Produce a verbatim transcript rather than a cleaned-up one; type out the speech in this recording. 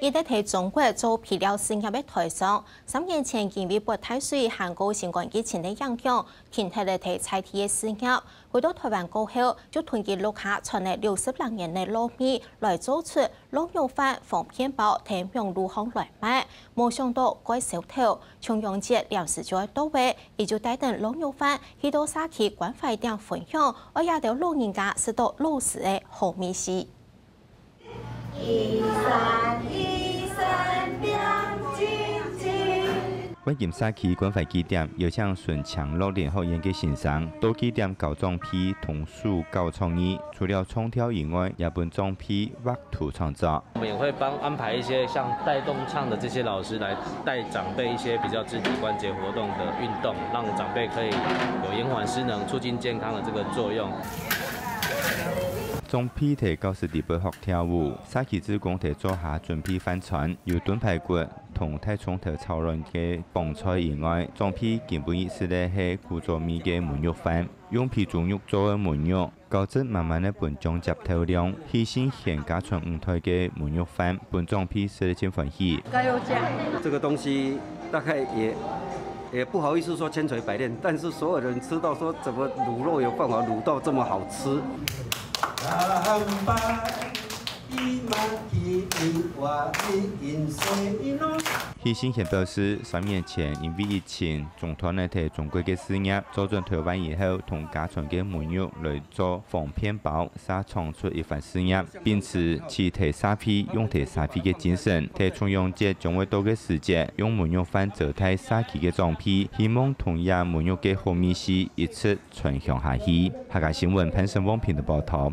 一直在中國做肥料事業个台商，三年前因為發大水還過新冠疫情个影響，停忒了在在地个事業。回到台灣過後，就囤積屋下存了六十零年个糯米，來做出糯肉飯、方便包等網路項來賣。無想到蓋銷頭，重陽節臨時就愛到位，佢就帶等糯肉飯去到社區關懷店分享，愛這兜老人家食到老時个好味緒。 一三一三亮晶晶。灣金社區關懷據點邀請純青樂齡學院个先生到據點教裝備同手搞創意，除了唱跳以外，也分裝備畫圖創作。我們也會幫安排一些像帶動唱的這些老師來帶長輩一些比較肢體關節活動的運動，讓長輩可以有延緩失能、促進健康的這個作用。 裝備在教室裡背學跳舞，社區志工在灶下準備飯餐，有燉排骨同大蔥頭炒卵个傍菜以外，裝備今晡日食个係古早味个燜肉飯，用肥豬肉做个燜肉，高質滿滿个分醬汁透亮，喜訊軒家傳五代个燜肉飯，分長輩食了真歡喜。加油醬。這個東西大概也也不好意思說千錘百煉，但是所有人吃到說，怎麼滷肉有辦法滷到這麼好吃？喜訊軒表示，三年前因為疫情中斷了在中國个事業，做轉台灣以後，同家傳个燜肉來做方便包，嗄創出一番事業。 並且在社會用在社會个精神，在重陽節將會到个時節，用燜肉飯招待社區个長輩，希望同這燜肉个好味緒一直傳承下去。客家新聞潘勝旺編輯報導。